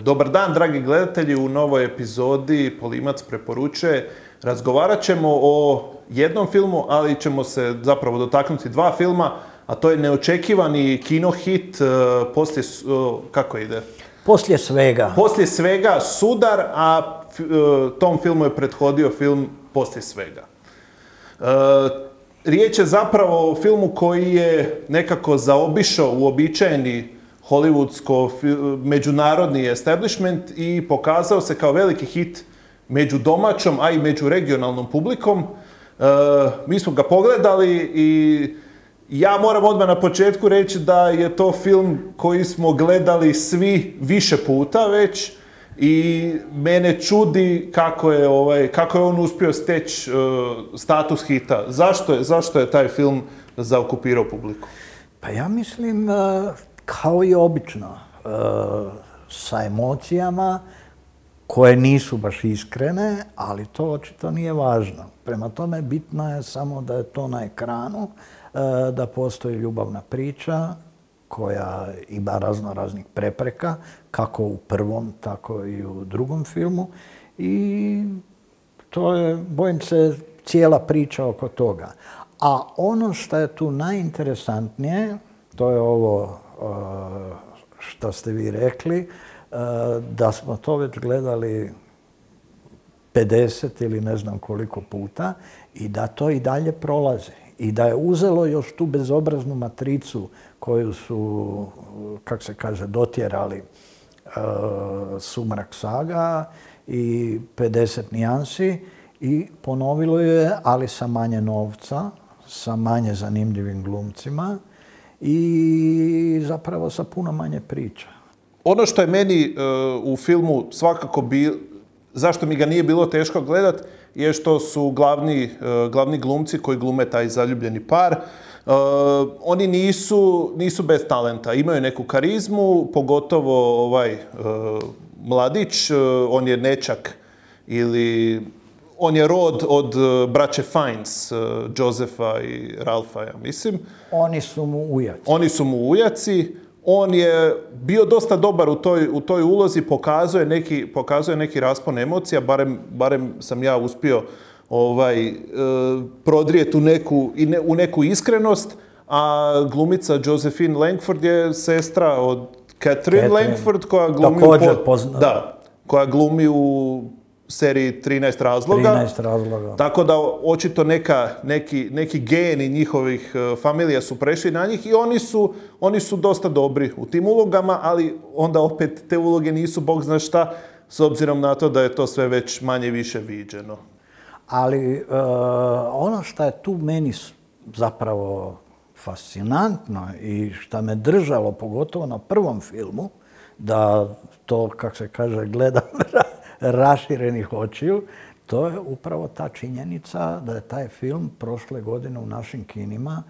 Dobar dan, dragi gledatelji, u novoj epizodi Polimac preporučuje. Razgovarat ćemo o jednom filmu, ali ćemo se zapravo dotaknuti dva filma, a to je neočekivani kinohit kako ide? Poslije svega. Poslije svega, Sudar, a tom filmu je prethodio film Poslije svega. Riječ je zapravo o filmu koji je nekako zaobišao uobičajeni hollywoodsko-međunarodni establishment i pokazao se kao veliki hit među domaćom, a i među regionalnom publikom. Mi smo ga pogledali i ja moram odmah na početku reći da je to film koji smo gledali svi više puta već i mene čudi kako je on uspio steći status hita. Zašto je taj film zaokupirao publiku? Pa ja mislim, kao i obično, sa emocijama koje nisu baš iskrene, ali to očito nije važno. Prema tome, bitno je samo da je to na ekranu, da postoji ljubavna priča koja ima raznih prepreka, kako u prvom, tako i u drugom filmu. I to je, bojim se, cijela priča oko toga. A ono što je tu najinteresantnije, to je ovo što ste vi rekli, da smo to već gledali 50 ili ne znam koliko puta i da to i dalje prolazi. I da je uzelo još tu bezobraznu matricu koju su, kako se kaže, dotjerali Sumrak saga i 50 nijansi i ponovilo je, ali sa manje novca, sa manje zanimljivim glumcima i zapravo sa puno manje priča. Ono što je meni u filmu svakako zašto mi ga nije bilo teško gledat, je što su glavni glumci koji glume taj zaljubljeni par. Oni nisu bez talenta, imaju neku karizmu, pogotovo mladić, on je nećak ili on je rod od braće Fiennes, Josefa i Ralfa, ja mislim. Oni su mu ujaci. Oni su mu ujaci. On je bio dosta dobar u toj ulozi, pokazuje neki raspon emocija, barem sam ja uspio prodrijeti u neku iskrenost, a glumica Josephine Langford je sestra od Catherine Langford koja glumi u seriji 13 razloga. 13 razloga. Tako da očito neki geni njihovih familija su prešli na njih i oni su dosta dobri u tim ulogama, ali onda opet te uloge nisu bog zna šta, s obzirom na to da je to sve već manje više viđeno. Ali ono što je tu meni zapravo fascinantno i što me držalo, pogotovo na prvom filmu, da to, kako se kaže, gledam raširenih očiju, to je upravo ta činjenica da je taj film prošle godine u našim kinima,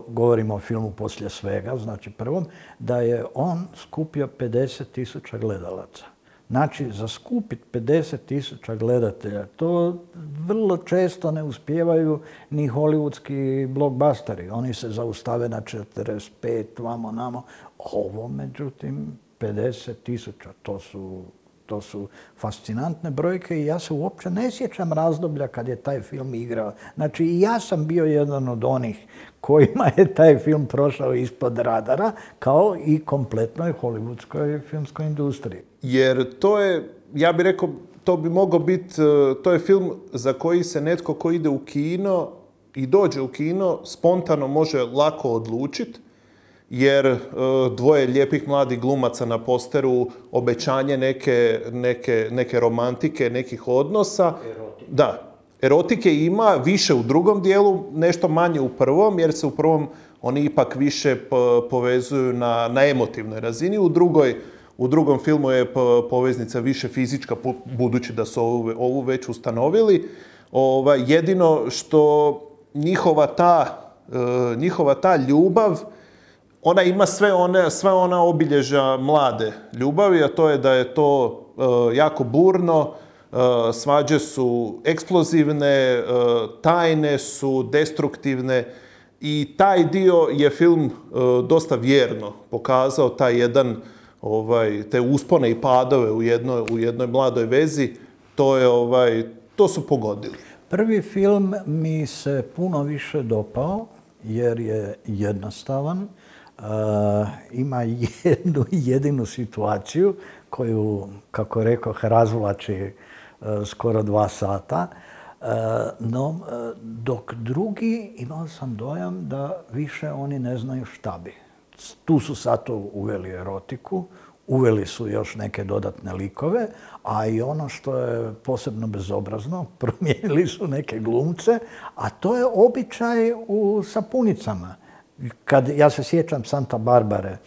govorimo o filmu Poslije svega, znači prvom, da je on skupio 50.000 gledalaca. Znači, za skupiti 50.000 gledatelja, to vrlo često ne uspijevaju ni hollywoodski blockbusteri. Oni se zaustave na 45, vamo namo. Ovo, međutim, 50.000, to su fascinantne brojke i ja se uopće ne sjećam razdoblja kad je taj film igrao. Znači, i ja sam bio jedan od onih kojima je taj film prošao ispod radara, kao i kompletnoj hollywoodskoj filmskoj industriji. Jer to je, ja bih rekao, to bi mogao biti, to je film za koji se netko ko ide u kino i dođe u kino spontano može lako odlučiti, jer dvoje lijepih mladih glumaca na posteru, obećanje neke romantike, nekih odnosa. Erotike. Da, erotike ima više u drugom dijelu, nešto manje u prvom, jer se u prvom oni ipak više povezuju na emotivnoj razini. U drugom filmu je poveznica više fizička, budući da su ovu već ustanovili. Jedino što njihova ta ljubav, ona ima sve ona obilježja mlade ljubavi, a to je da je to jako burno, svađe su eksplozivne, tajne su, destruktivne i taj dio je film dosta vjerno pokazao, taj jedan te uspone i padove u jednoj mladoj vezi, to su pogodili. Prvi film mi se puno više dopao jer je jednostavan. Ima jednu jedinu situaciju koju, kako rekoh, razvlači skoro 2 sata. No, dok drugi imao sam dojam da više oni ne znaju šta bi. Tu su sad uveli erotiku, uveli su još neke dodatne likove, a i ono što je posebno bezobrazno, promijenili su neke glumce, a to je običaj u sapunicama. Ja se sjećam Santa Barbare,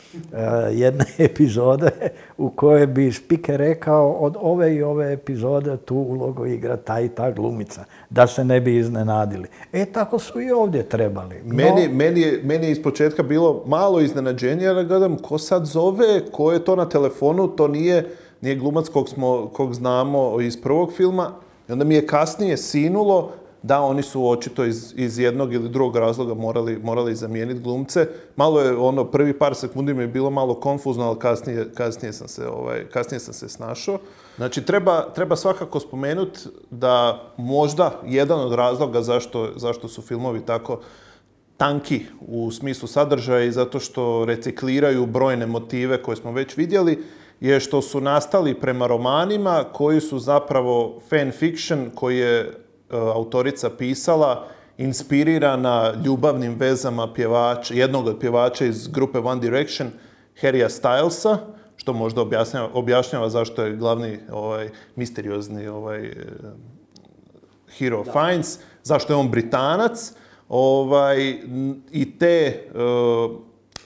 jedne epizode u kojoj bi speaker rekao od ove i ove epizode tu ulogu igra ta i ta glumica, da se ne bi iznenadili. Tako su i ovdje trebali. Meni je ispočetka bilo malo iznenađenje, jer gledam ko sad zove, ko je to na telefonu, to nije glumac kog znamo iz prvog filma. I onda mi je kasnije sinulo da oni su očito iz jednog ili drugog razloga morali zamijeniti glumce. Malo je prvi par sekundi mi je bilo malo konfuzno, ali kasnije sam se snašao. Znači, treba svakako spomenuti da možda jedan od razloga zašto su filmovi tako tanki u smislu sadržaja i zato što recikliraju brojne motive koje smo već vidjeli, je što su nastali prema romanima koji su zapravo fan fiction, koji je autorica pisala, inspirirana ljubavnim vezama jednog od pjevača iz grupe One Direction, Harrya Stylesa, što možda objašnjava zašto je glavni misteriozni hero Fiennes, zašto je on Britanac. I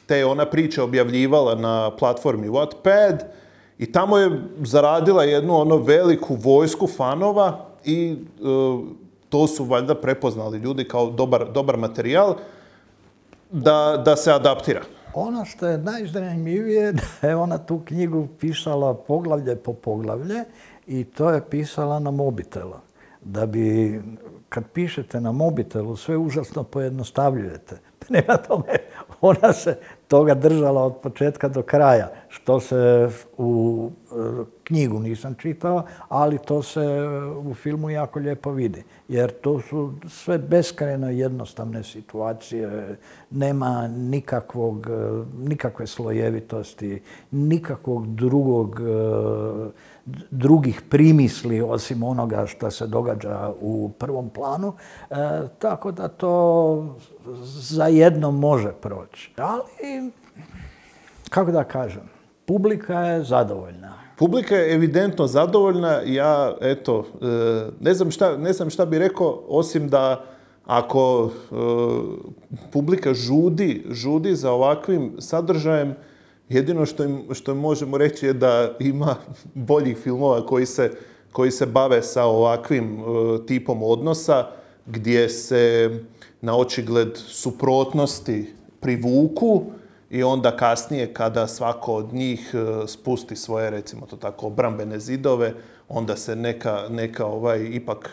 te ona priča objavljivala na platformi Wattpad i tamo je zaradila jednu veliku vojsku fanova i to su valjda prepoznali ljudi kao dobar materijal da se adaptira. Ono što je najzanimljivije da je ona tu knjigu pisala poglavlje po poglavlje i to je pisala na mobitelu. Da bi, kad pišete na mobitelu, sve užasno pojednostavljujete. Prema tome, ona se toga držala od početka do kraja, što se u knjigu nisam čitao, ali to se u filmu jako lijepo vidi. Jer to su sve beskrajno jednostavne situacije, nema nikakve slojevitosti, nikakvog drugih primisli osim onoga što se događa u prvom planu, tako da to za jedno može proći. Ali, kako da kažem, publika je zadovoljna. Publika je evidentno zadovoljna. Ja, ne znam šta bi rekao, osim da ako publika žudi za ovakvim sadržajem, jedino što im možemo reći je da ima boljih filmova koji se bave sa ovakvim tipom odnosa, gdje se na očigled suprotnosti privuku i onda kasnije kada svako od njih spusti svoje, recimo to tako, obrambene zidove, onda se neka ipak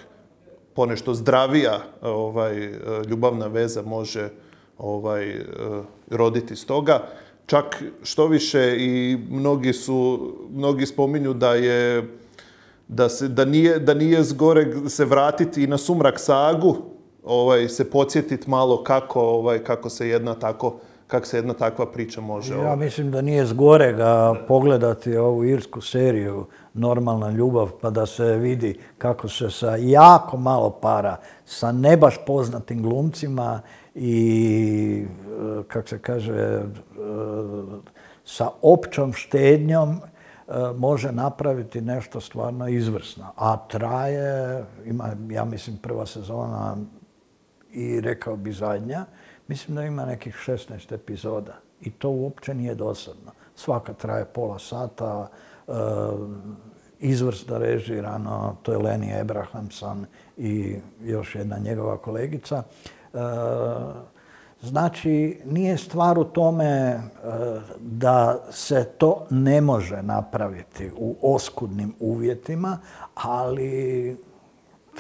ponešto zdravija ljubavna veza može roditi iz toga. Čak što više i mnogi spominju da nije zgoreg se vratiti i na Sumrak sagu, se podsjetiti malo kako se jedna takva priča može. Ja mislim da nije zgorega pogledati ovu irsku seriju Normalna ljubav, pa da se vidi kako se sa jako malo para, sa ne baš poznatim glumcima i, kako se kaže, sa općom štednjom može napraviti nešto stvarno izvrsno. A traje, ima, ja mislim, prva sezona i rekao bi zadnja, mislim da ima nekih 16 epizoda. I to uopće nije dosadno. Svaka traje pola sata, izvrsno režirano, to je Lenny Abrahamson i još jedna njegova kolegica. Znači, nije stvar u tome da se to ne može napraviti u oskudnim uvjetima, ali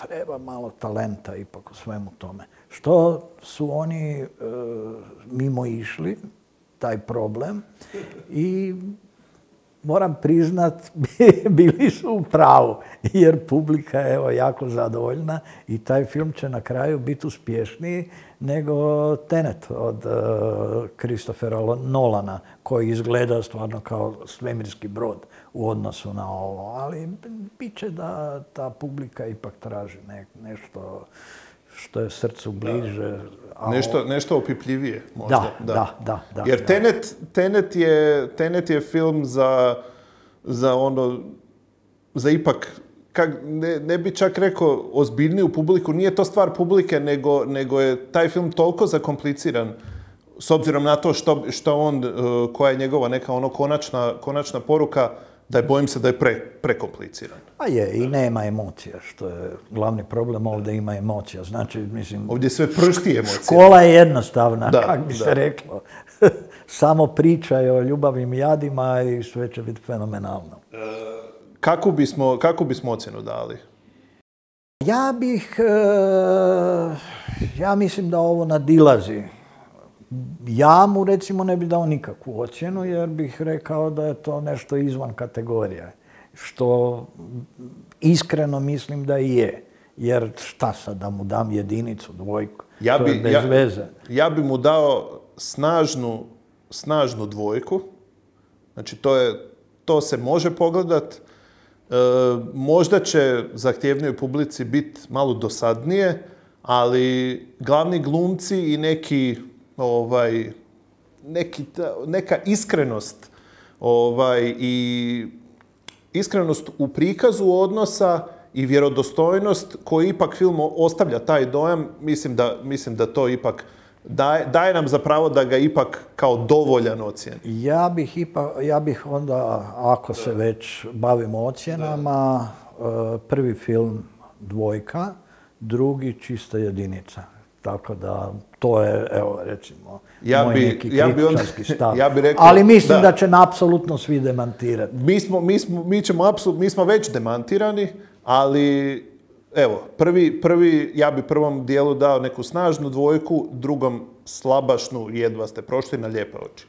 treba malo talenta ipak u svemu tome. Što su oni mimo išli, taj problem, i moram priznat, bili su u pravu, jer publika je evo jako zadovoljna i taj film će na kraju biti uspješniji nego Tenet od Christophera Nolana, koji izgleda stvarno kao svemirski brod u odnosu na ovo, ali bit će da ta publika ipak traži nešto što je srcu bliže. Nešto opipljivije možda. Da. Jer Tenet je film za ipak, ne bi čak rekao ozbiljniju publiku, nije to stvar publike, nego je taj film toliko zakompliciran, s obzirom na to koja je njegova neka konačna poruka, da bojim se da je prekompliciran. Pa je, i nema emocija, što je glavni problem, ovdje ima emocija. Znači, mislim... Ovdje sve pršti emocija. Škola je jednostavna, kako bi se reklo. Samo pričaj o ljubavim jadima i sve će biti fenomenalno. Kakvu bismo ocjenu dali? Ja mislim da ovo nadilazi. Ja mu recimo ne bi dao nikakvu ocjenu, jer bih rekao da je to nešto izvan kategorije. Što iskreno mislim da i je. Jer šta sad da mu dam jedinicu, dvojku? To je bez veze. Ja bi mu dao snažnu dvojku. Znači to se može pogledat. Možda će zahtjevnijoj publici biti malo dosadnije, ali glavni glumci i neka iskrenost i iskrenost u prikazu odnosa i vjerodostojnost koji ipak film ostavlja taj dojam, mislim da to ipak daje nam za pravo da ga ipak kao dovoljan ocjeni. Ja bih onda, ako se već bavimo ocjenama, prvi film dvojka, drugi čista jedinica. Tako da, to je, evo, recimo, moj neki kritičarski stav. Ali mislim da će apsolutno svi demantirati. Mi smo već demantirani, ali, evo, ja bi prvom dijelu dao neku snažnu dvojku, drugom slabašnu, jedva ste prošli na lijepe oči.